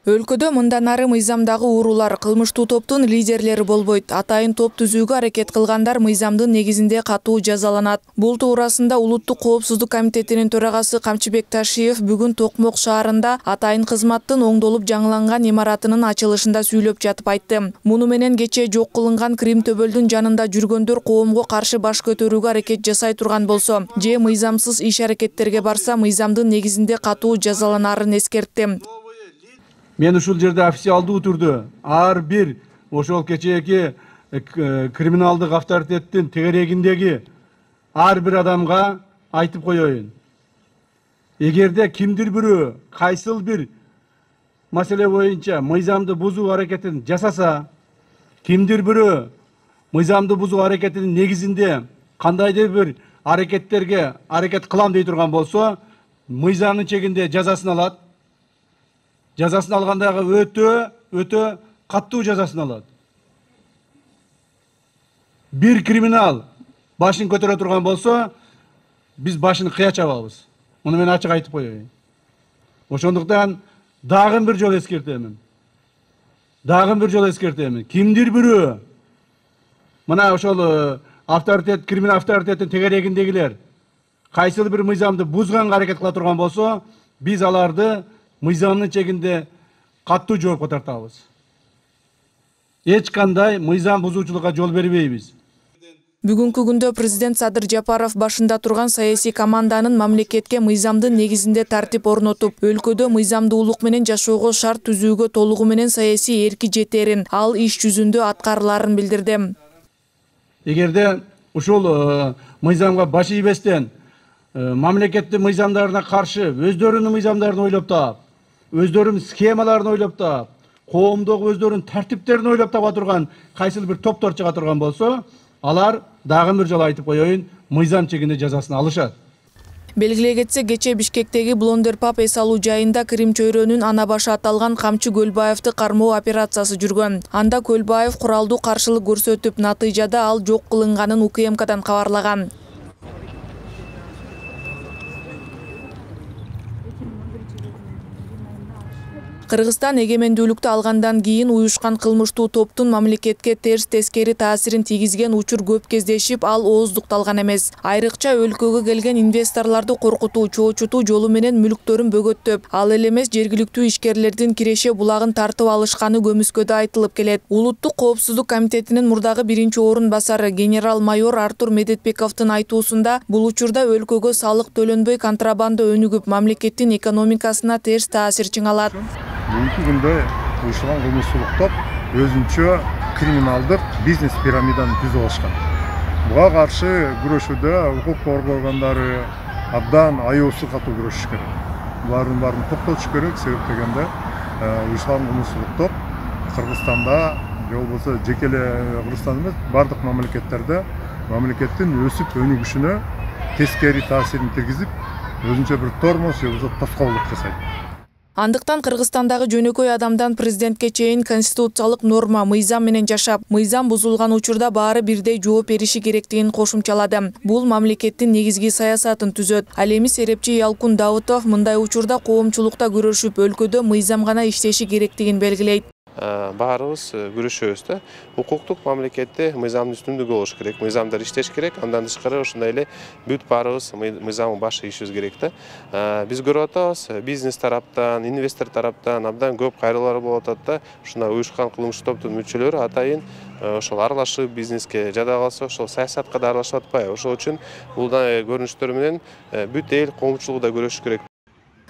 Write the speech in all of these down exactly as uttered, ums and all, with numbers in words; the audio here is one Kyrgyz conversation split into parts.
Өлкөдө мындан ары мыйзамдагы уурулар кылмыштуу топтун лидерлери болбойт. Атайын топ түзүүгө аракет кылгандар мыйзамдын негизинде катуу жазаланат. Бул туурасында Улуттук коопсуздук комитетинин төрагасы Камчыбек Ташиев бүгүн Токмок шаарында атайын кызматтын оңдолуп жаңыланган имаратынын ачылышында сүйлөп жатып айтты. Муну менен кечээ жок кылынган Крим төбөлдүн жанында жүргөндөр коомго каршы баш көтөрүүгө аракет жасай турган болсо, же мыйзамсыз иш аракеттерге барса мыйзамдын негизинде катуу жазаланарын эскертти. Мен ушул жерде официалдуу түрдө ар бир ошол кечээки криминалдык авторитеттин тегерегиндеги ар бир адамга айтып коеюн. Эгерде кимдир бирөө кайсыл бир маселе боюнча мыйзамды бузуу аракетин жасаса, кимдир бирөө мыйзамды бузуу аракетинин негизинде кандайдыр бир аракеттерге аракет кылам дей турган болсо, мыйзамдын чегинде жазасын алат. Жазасын алгандагы өтө өтө каттуу жазасын алат. Бир криминал башын көтөрө турган болсо, биз башын кыя чабабыз. Муну мен ачык айтып коеюн. Ошондуктан дагы бир жолу эскертемин. Дагы бир жолу эскертемин. Кимдир бирөө мына ошол авторитет, криминал авторитеттин тегерегиндегилер кайсыл бир мыйзамды бузганга аракет кыла турган болсо, биз аларды мыйзамдын чегинде каттуу жоопко тартабыз. Эч кандай мыйзам бузуучулукка жол бербейбиз. Бүгүнкү күндө президент Садыр Жапаров башында турган саясий команданын мамлекетке мыйзамдын негизинде тартип орнотуп, өлкөдө мыйзамдуулук менен жашоого шарт түзүүгө толугу менен саясий эрки жетерин, ал иш жүзүндө аткарыларын билдирди. Эгерде ушул мыйзамга баш ийбестен мамлекеттин мыйзамдарына каршы өздөрүнүн мыйзамдарын ойлоп таап, өздөрүнүн схемаларын ойлоп таап, коомдогу өздөрүнүн тартиптерин ойлоп таба турган кайсыл бир топтор чыга турган болсо, алар дагы бир жолу айтып коеюн, мыйзам чегинде жазасын алышат. Белгилей кетсек, кечээ Бишкектеги Блондерпап эс алуу жайында Крим чөйрөнүн ана башы аталган Камчы Көлбаевди кармоо операциясы жүргөн. Анда Көлбаев куралдуу каршылык көрсөтүп, натыйжада ал жок кылынганын У К М Кдан кабарлаган. Кыргызстан эгемендүүлүктү алгандан кийин уюшкан кылмыштуу топтун мамлекетке терс тескери таасирин тийгизген учур көп кездешип, ал ооздукталган эмес. Айрыкча өлкөгө келген инвесторлорду коркутуу, чоочутуу жолу менен мүлктөрүн бөгөттөп, ал эле эмес жергиликтүү ишкерлердин Киреше булагын тартып алышканы көмүскөдө айтылып келет. Улуттук коопсуздук комитетинин мурдагы биринчи орун басары генерал-майор Артур Медетбековдун айтуусунда, бул учурда өлкөгө салык төлөнбөй контрабанда өнүгүп, мамлекеттин экономикасына терс таасир чыңалат. Бүгүнкү күндө уюштурулган кылмыштуулук топ өзүнчө криминалдык бизнес пирамиданы түзүп алышкан. Буга каршы күрөшүүдө укук коргоо органдары абдан аеосуз катуу күрөшүш керек. Булардын баарын токтотуш керек, себеп дегенде уюштурулган кылмыштуулук топ Кыргызстанда же болбосо жеке эле Кыргызстан эмес, бардык мамлекеттерде мамлекеттин өсүп өнүгүшүнө тескери таасирин тийгизип, өзүнчө бир тормоз же болбосо тоскоолдук жасайт. Андыктан Кыргызстандагы жөнөкөй адамдан президентке чейин конституциялык норма мыйзам менен жашап, мыйзам бузулган учурда баары бирдей жооп бериши керектигин кошумчалады. Бул мамлекеттин негизги саясатын түзөт. Ал эми серепчи Ялкун Давытов мындай учурда коомчулукта күрөшүп, өлкөдө мыйзам гана иштеши керектигин белгилейт. Баарыбыз күрөшөбүз да. Укуктук мамлекетте мыйзамдын үстүндүгү болуш керек, мыйзамдар иштеш керек. Андан тышкары ошондой эле бүт баарыбыз мыйзамга баш ийишибиз керек да. Биз көрүп атабыз, бизнес тараптан, инвестор тараптан абдан көп кайрылуулар болуп атат да. Ушундай уюшкан кылмыштуу топтун мүчөлөрү атайын ошол аралашып бизнеске, жада калса ошол саясатка да аралашып атпайбы. Ошол үчүн бул көрүнүштөр менен бүт эл коомчулугу да күрөшүш керек.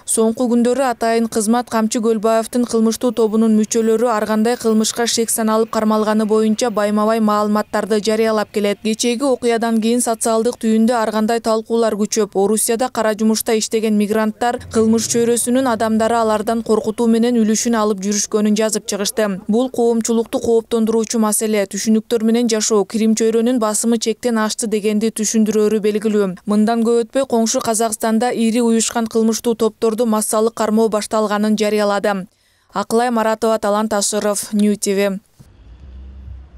Соңку күндөрү атайын кызмат Камчы Көлбаевдин кылмыштуу тобунун мүчөлөрү ар кандай кылмышка шек саналып кармалганы боюнча байма-бай маалыматтарды жарыялап келет. Кечээги окуядан кийин социалдык түйүндө ар кандай талкуулар күчөп, Орусияда кара жумушта иштеген мигранттар кылмыш чөйрөсүнүн адамдары алардан коркутуу менен үлүшүн алып жүрүшкөнүн жазып чыгышты. Бул коомчулукту кооптондуруучу маселе, түшүнүктөр менен жашоо, Крим чөйрөнүн басымы чектен ашты дегенди түшүндүрөөрү белгилүү. Мындан көп өтпөй коңшу Казакстанда ири уюшкан кылмыштуу топтор массалык кармоо башталганын жарыялады. Акылай Маратова, Талант Ашыров, Нью Ти Ви.